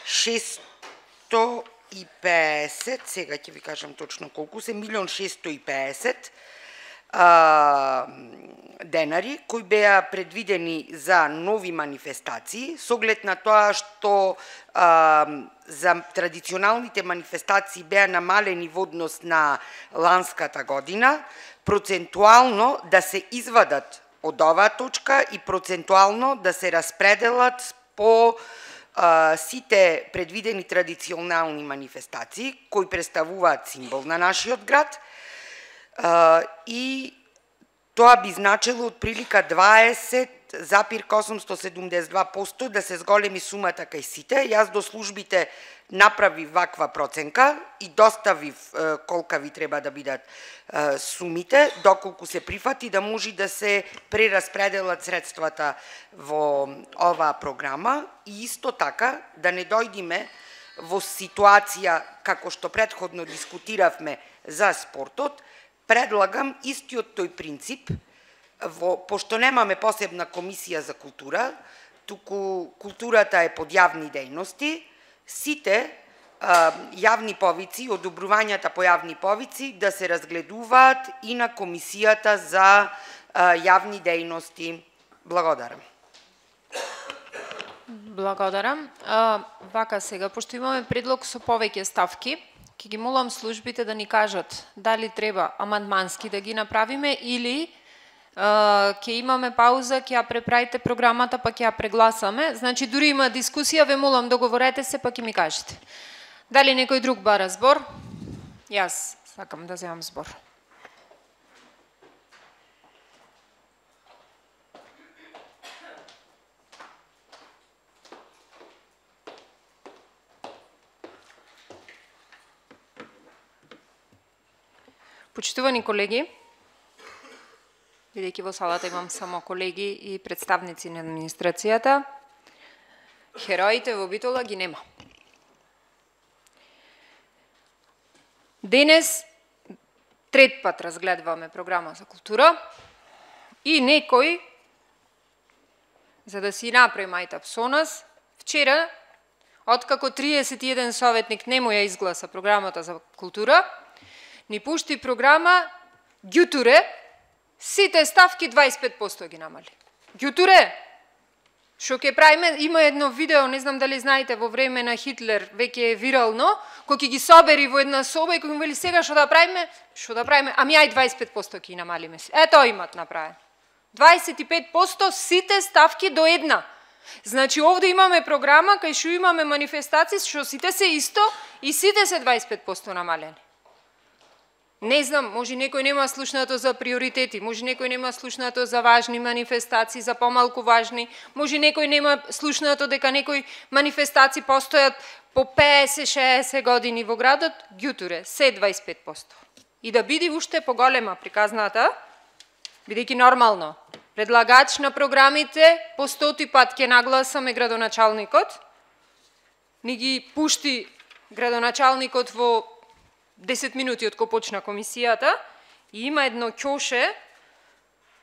шестsto и песет, сега ќе ви кажам точно колку се, милион шестsto и песет, uh, денари кои беа предвидени за нови манифестации, со оглед на тоа што а, за традиционалните манифестации беа намалени во однос на ланската година, процентуално да се извадат од оваа точка и процентуално да се распределат по а, сите предвидени традиционални манифестации кои представуваат символ на нашиот град, а, и тоа би значило од прилика дваесет запир осумстотини седумдесет и два проценти да се зголеми сумата кај сите. Јас до службите направив ваква проценка и доставив е, колка ви треба да бидат е, сумите, доколку се прифати да може да се прераспределат средствата во оваа програма и исто така да не дојдиме во ситуација како што претходно дискутиравме за спортот. Предлагам истиот тој принцип, во, пошто немаме посебна комисија за култура, туку културата е под јавни дејности, сите а, јавни повици, одобрувањата по јавни повици да се разгледуваат и на комисијата за а, јавни дејности. Благодарам. Благодарам. А, вака сега, пошто имаме предлог со повеќе ставки, ќе ги молам службите да ни кажат дали треба амандмански да ги направиме или uh, ќе имаме пауза, ќе ја преправите програмата, па ќе ја прегласаме. Значи, дури има дискусија, ве молам договорете се, па ќе ми кажете. Дали некој друг бара збор? Јас сакам да земам збор. Почитувани колеги, бидејќи во салата имам само колеги и представници на администрацијата, хероите во Битола ги нема. Денес трет пат разгледуваме програма за култура и некој, за да си направи мајтап со нас, вчера, откако триесет и еден советник не му ја изгласа програмата за култура, ни пушти програма ѓутуре, сите ставки дваесет и пет проценти ги намали. Ѓутуре, што ќе правиме, има едно видео, не знам дали знаете, во време на Хитлер, веќе е вирално, кој ќе ги собери во една соба и кој му вели сега што да правиме, што да правиме, ами ај дваесет и пет проценти ќе намалиме. Ето имат направено. дваесет и пет проценти сите ставки до една. Значи овде имаме програма кај што имаме манифестации што сите се исто и сите се дваесет и пет проценти намалени. Не знам, може некој нема слушнато за приоритети, може некој нема слушнато за важни манифестации, за помалку важни, може некој нема слушнато дека некои манифестации постојат по песет шеесет години во градот, ѓутуре, се дваесет и пет проценти. И да биде уште поголема приказната, бидејќи нормално, предлагач на програмите по стоти пат ќе нагласаме градоначалникот, ни ги пушти градоначалникот во десет минути од кога почна комисијата и има едно ќоше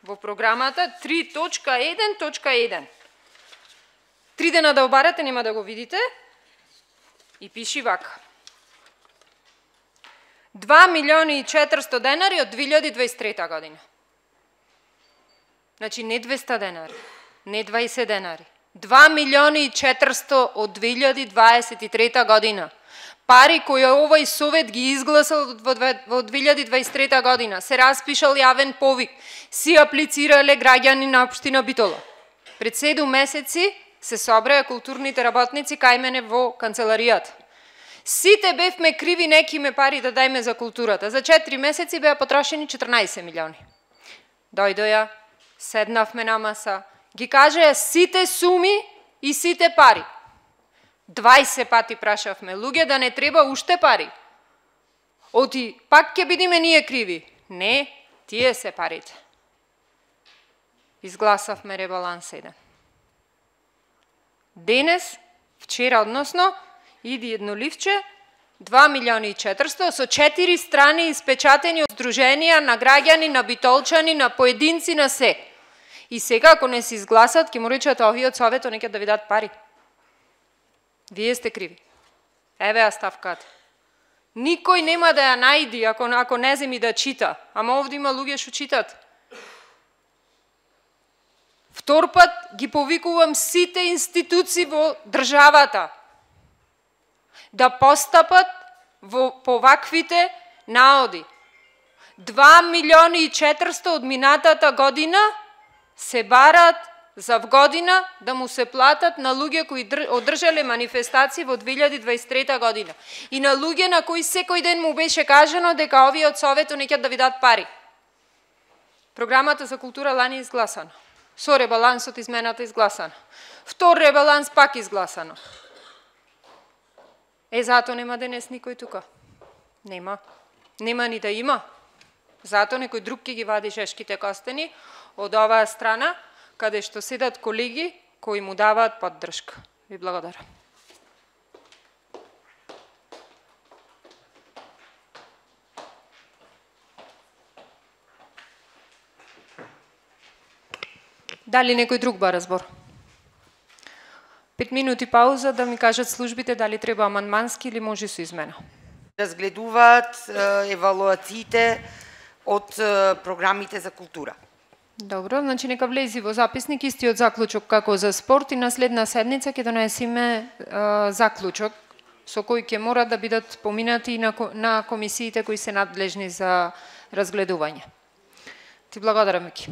во програмата три точка еден точка еден. Три дена да обарате, нема да го видите. И пиши вака. два милиони и четиристотини денари од две илјади и дваесет и трета година. Значи не двеста денари, не дваесет денари. два милиони и четиристотини од две илјади и дваесет и трета година. Пари кои овој совет ги изгласал во две илјади и дваесет и трета година, се распишал јавен повик, си аплицирале граѓани на општина Битола. Пред седум месеци се собреа културните работници кај мене во канцеларијата. Сите бевме криви некиме пари да дајме за културата. За четири месеци беа потрошени четрнаесет милиони. Дојдоја, седнавме на маса, ги кажеа сите суми и сите пари. дваесет пати прашавме луѓе да не треба уште пари. Оти, пак ќе бидиме ние криви. Не, тие се парите. Изгласавме ребаланс еден. Денес, вчера односно, иди едно ливче, два милиони и четиристотини со четири страни испечатени од здруженија на граѓани, на битолчани, на поединци, на се. И сега, ако не се изгласат, ќе му речат овиот совето нека да ви дадат пари. Вие сте криви. Еве ја ставката. Никој нема да ја најди ако, ако не земи да чита. Ама овде има луѓе што читат. Втор пат ги повикувам сите институции во државата да постапат во поваквите наоди. два милиони и четиристо од минатата година се барат за година да му се платат на луѓе кои одржале манифестации во две илјади дваесет и трета година. И на луѓе на кои секој ден му беше кажано дека овие од Советот неќат да ви дадат пари. Програмата за култура лани изгласана. Со ребалансот измената изгласана. Втор ребаланс пак изгласано. Е, зато нема денес никој тука. Нема. Нема ни да има. Зато некој друг ќе ги вади шешките костени од оваа страна, каде што седат колеги кои му даваат поддршка. Ви благодарам. Дали некој друг бара збор? Пет минути пауза да ми кажат службите дали треба амандмански или може со измена. Разгледуваат евалуациите од програмите за култура. Добро, значи нека влези во записник истиот заклучок како за спорт и на следна седница ќе донесеме е, заклучок со кој ќе мора да бидат поминати на, на комисиите кои се надлежни за разгледување. Ти благодарам, Мики.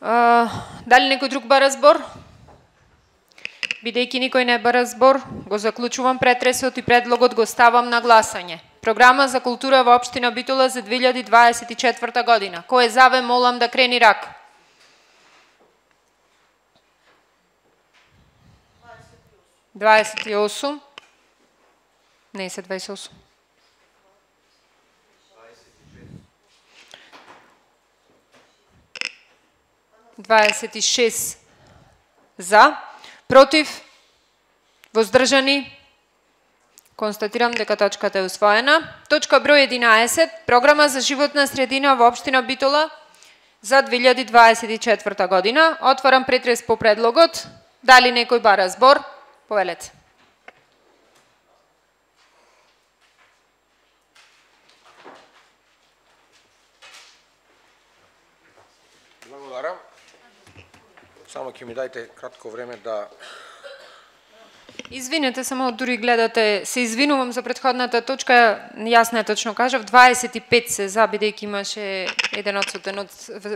Дали некој друг бара збор? Бидејќи никој не бара збор, го заклучувам претресот и предлогот го ставам на гласање. Програма за култура во општина Битола за две илјади дваесет и четврта година. Кој е за, ве молам да крени рак. дваесет и осум. Не се дваесет и осум. дваесет и шест за, против, воздржани. Констатирам дека точката е усвоена. Точка број единаесет, програма за животна средина во општина Битола за две илјади дваесет и четврта година. Отварам претрес по предлогот. Дали некој бара збор? Повелете. Благодарам. Само ќе ми дајте кратко време да... Извинете, само дури гледате, се извинувам за претходната точка, јас не точно кажав, дваесет и пет се за, бидејќи имаше еден одсутен од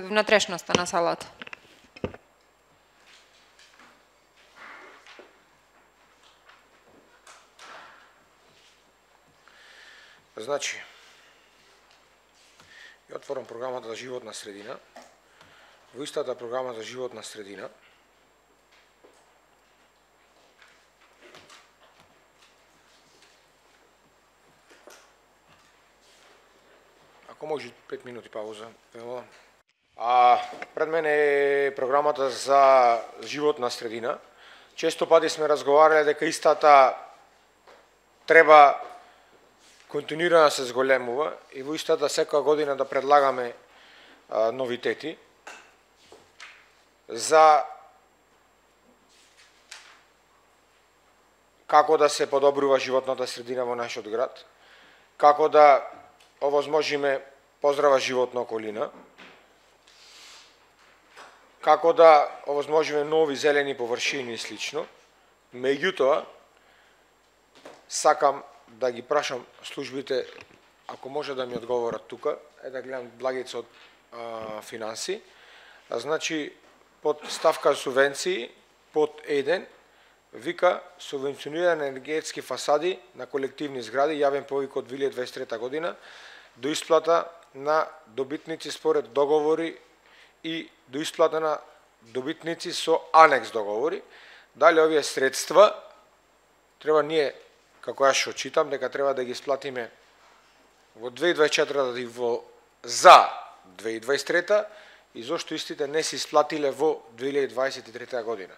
внатрешноста на салата. Значи, ја отворам програмата за животна средина. Во истата програма за животна средина ако може пет минути пауза. А пред мене е програмата за животна средина. Често пати сме разговарале дека истата треба континуирано да се зголемува и во истата секоја година да предлагаме а, новитети за како да се подобрува животната средина во нашиот град, како да овозможиме поздрава животна околина, како да овозможиме нови зелени површини и слично. Меѓутоа, сакам да ги прашам службите, ако може да ми одговорат тука, е да гледам Благица од а, финанси. А, значи, под ставка субвенции, под еден, вика субвенциониране енергетски фасади на колективни згради, јавен повик од две илјади дваесет и трета година, до исплата на добитници според договори и до исплата на добитници со анекс договори. Дали овие средства треба ние, како јас што читам, дека треба да ги исплатиме во две илјади дваесет и четврта и во за две илјади дваесет и трета и зошто истите не се исплатиле во две илјади дваесет и трета година.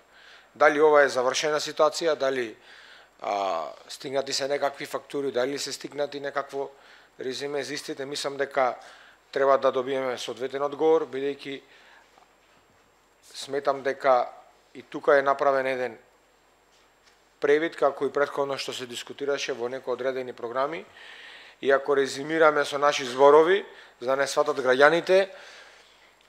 Дали ова е завршена ситуација, дали а, стигнати се некакви фактури, дали се стигнати некакво резиме за истите, мислам дека треба да добиеме соодветен одговор, бидејќи сметам дека и тука е направен еден превид, како и претходно што се дискутираше во некои одредени програми, и ако резимираме со наши зборови, за да не сватат граѓаните,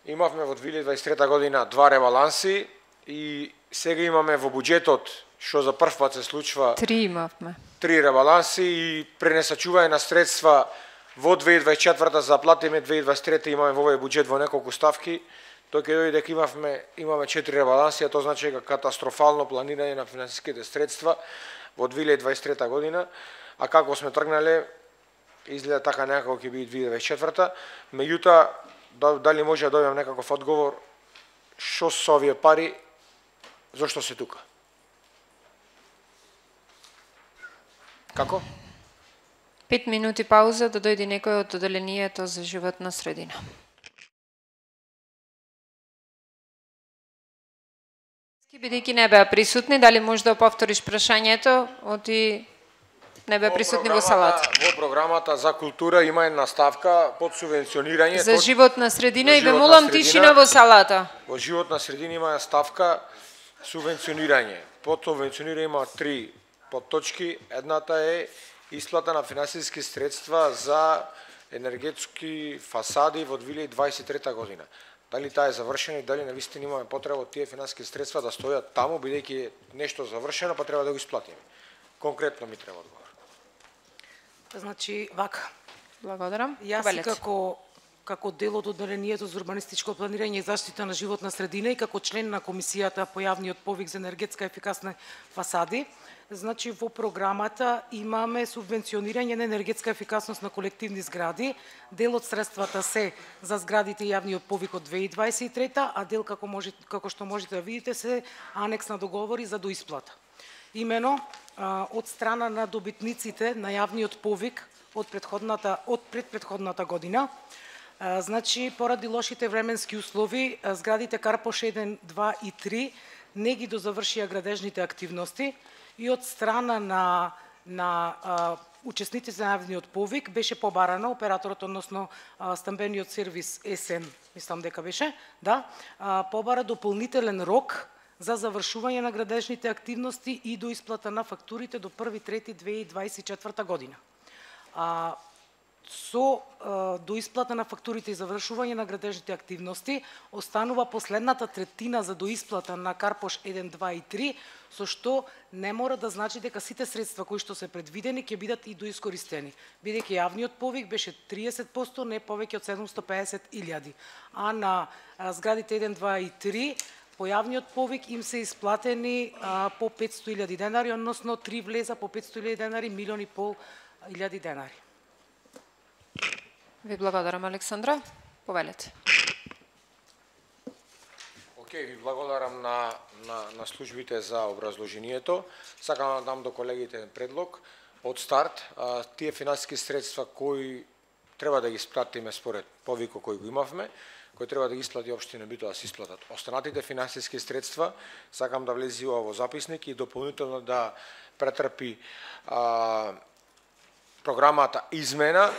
Имавме во две илјади дваесет и трета година два ребаланси и сега имаме во буџетот, што за прв пат се случува, Три имавме. Три ребаланси и пренесачување на средства во две илјади дваесет и четврта за платиме, две илјади дваесет и трета имаме во овој буџет во неколку ставки. Тој ќе дојде дека имавме имаме четири ребаланси, а тоа значи дека катастрофално планирање на финансиските средства во две илјади дваесет и трета година, а како сме тргнале изгледа така некако ќе биде две илјади дваесет и четврта. Меѓутоа, дали може да добиам некаков одговор што со овие пари, зошто се тука? Како? Пет минути пауза да дојде некој од одделението за животна средина. Бидејќи не беа присутни, дали може да повториш прашањето, оти не беа присутни во салата? Во програмата за култура има една ставка под субвенционирање. За животна средина за и ве животна молам средина. тишина во салата. Во животна средина има ставка субвенционирање. Под субвенционирање има три подточки. Едната е исплата на финансиски средства за енергетски фасади во две илјади дваесет и трета година. Дали таа е завршена и дали навистина имаме потреба од тие финансиски средства да стојат таму, бидејќи е нешто завршено, па треба да го исплатиме. Конкретно ми треба одговор. Значи, вака. Благодарам. Јас и како како дел од одделението за урбанистичко планирање и заштита на животна средина и како член на комисијата по јавниот повик за енергетска ефикасни фасади, значи во програмата имаме субвенционирање на енергетска ефикасност на колективни згради. Дел од средствата се за зградите и јавниот повик од две илјади дваесет и трета, а дел како може како што можете да видите се анекс на договори за доисплата. Имено од страна на добитниците на јавниот повик од предходната од предпретходната година, значи поради лошите временски услови, зградите Карпош еден, два и три не ги дозавршија градежните активности и од страна на на а, учесниците на јавниот повик беше побарано операторот, односно а, стамбениот сервис ЕСН, мислам дека беше, да, а, побара дополнителен рок за завршување на градежните активности и до исплата на фактурите до први трети две илјади дваесет и четврта година. А, со а, до исплата на фактурите и завршување на градежните активности останува последната третина за доисплата на Карпош еден, два и три, со што не мора да значи дека сите средства кои што се предвидени ќе бидат и доискористени, бидејќи јавниот повик беше триесет проценти, не повеќе од седумстотини и педесет илјади, а на а, зградите еден, два и три по јавниот повик им се исплатени а, по петстотини илјади денари, односно три влеза по петстотини илјади денари, милион и пол илјади денари. Ви благодарам, Александра. Повелете. Океј, ви благодарам на, на, на службите за образложението. Сакам да дам до колегите предлог. Од старт, а, тие финансиски средства кои треба да ги исплатиме според повикот кој го имавме, кој треба да ги исплати општина Битола да се исплатат. Останатите финансиски средства сакам да влези во записник и дополнително да претрпи а, програмата измена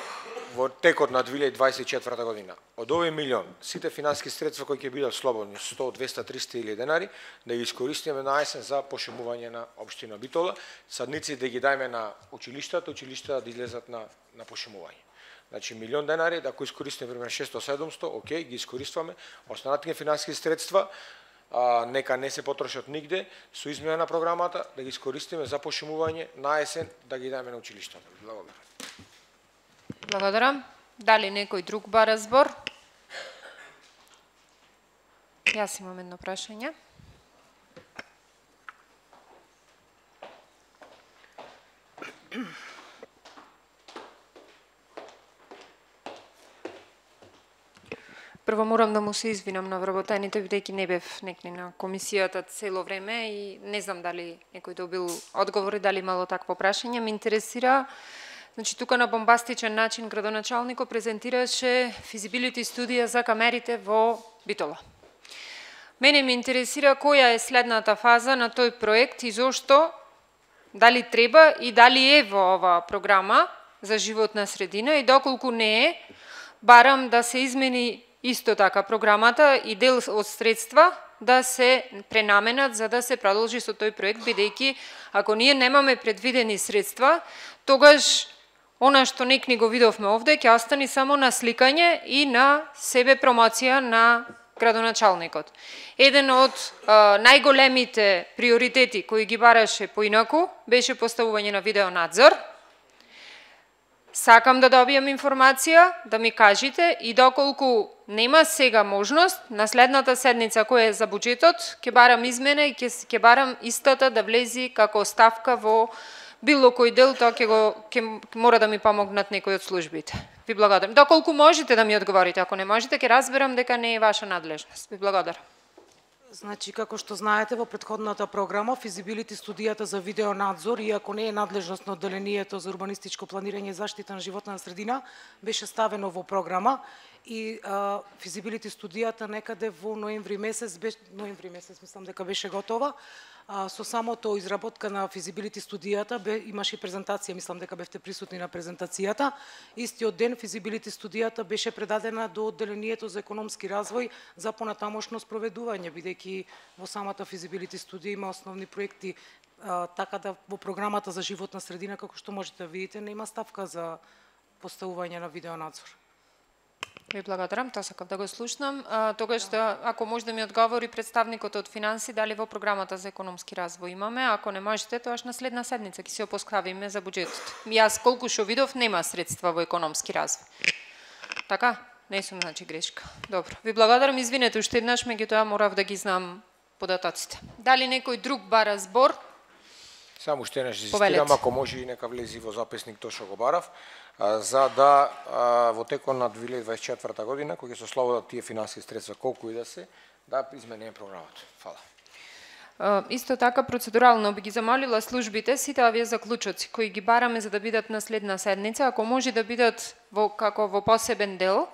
во текот на две илјади дваесет и четврта година. Од овој милион, сите финансиски средства кои ќе бидат слободни, сто, двеста, триста илјади денари, да ги искористиме на есен за пошумување на општина Битола, садници да ги дајме на училиштата, училиштата да излезат на, на пошумување. Значи, милион денари, да ако искористиме пример шестоста до седумстотини, окей, ги искористваме, останатите финансиски средства, а, нека не се потрошат нигде, со измена на програмата, да ги искористиме за пошумување на есен, да ги дајме на училиштата. Благодарам. Благодарам. Дали некој друг бара збор? Јас имам едно прашање. Прво морам да му се извинам на вработените, бидејќи не бев некни на комисијата цело време и не знам дали некој добил одговори, дали имало такво прашање. Ме интересира, значи тука на бомбастичен начин градоначалникот презентираше физибилити студија за камерите во Битола. Мене ме интересира која е следната фаза на тој проект и зошто, дали треба и дали е во оваа програма за животна средина и доколку не е, барам да се измени исто така програмата и дел од средства да се пренаменат за да се продолжи со тој проект, бидејќи ако ние немаме предвидени средства, тогаш Она што некни го видовме овде, ќе остани само на сликање и на себе промоција на градоначалникот. Еден од а, најголемите приоритети кои ги бараше поинаку беше поставување на видеонадзор. Сакам да добијам информација, да ми кажете и доколку нема сега можност, на следната седница која е за буџетот, ќе барам измена и ќе, ќе барам истата да влези како ставка во било кој дел, тоа ќе го ќе мора да ми помогнат некои од службите. Ви благодарам. Доколку можете да ми одговорите, ако не можете, ќе разберам дека не е ваша надлежност. Ви благодарам. Значи, како што знаете, во претходната програма, физибилити студијата за видеонадзор, иако не е надлежност на одделението за урбанистичко планирање и заштита на животна средина, беше ставено во програма и а, физибилити студијата некаде во ноември месец, беше, ноември месец мислам дека беше готова. А, со самото изработка на физибилити студијата бе, имаше презентација, мислам дека бевте присутни на презентацијата. Истиот ден физибилити студијата беше предадена до одделението за економски развој за понатамошно спроведување, бидејќи во самата физибилити студија има основни проекти, а, така да во програмата за животна средина, како што можете да видите, нема ставка за поставување на видеонадзор. Ви благодарам, тоа сакав да го слушнам. А, тогаш да, ако може да ми одговори представникот од финанси, дали во програмата за економски развој имаме, ако не можете, тоаш на следна седница ќе се опоскавиме за буџетот. Јас колку што видов, нема средства во економски развој. Така? Не сум, значи, грешка. Добро. Ви благодарам, извинете уште еднаш, меѓутоа морав да ги знам податоците. Дали некој друг бара збор? Само уште еднаш инсистирам, ако може и нека влези во записник тоа што го барав, за да во текот на две илјади дваесет и четврта година, кога ќе се ослободат тие финансиски средства, колку и да се, да измениме програмата. Фала. Исто така, процедурално би ги замолила службите, сите овие заклучоци кои ги бараме за да бидат на следна седница, ако може да бидат во, како во посебен дел,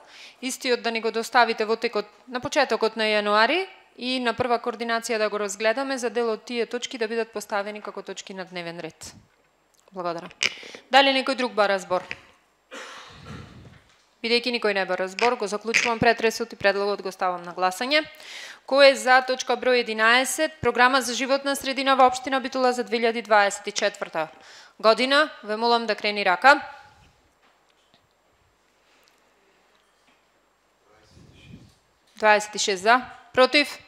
истиот да ни го доставите во текот, на почетокот на јануари, и на прва координација да го разгледаме за дел од тие точки да бидат поставени како точки на дневен ред. Благодарам. Дали некој друг бара збор? Бидејќи никој не бара збор, го заклучувам претресот и предлогот го ставам на гласање. Кој е за точка број единаесет, програма за животна средина во општина Битола за две илјади дваесет и четврта година? Ве молам да крени рака. дваесет и шест за, против?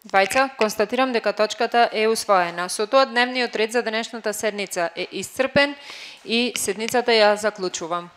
Двајца, констатирам дека точката е усвоена. Со тоа дневниот ред за денешната седница е исцрпен и седницата ја заклучувам.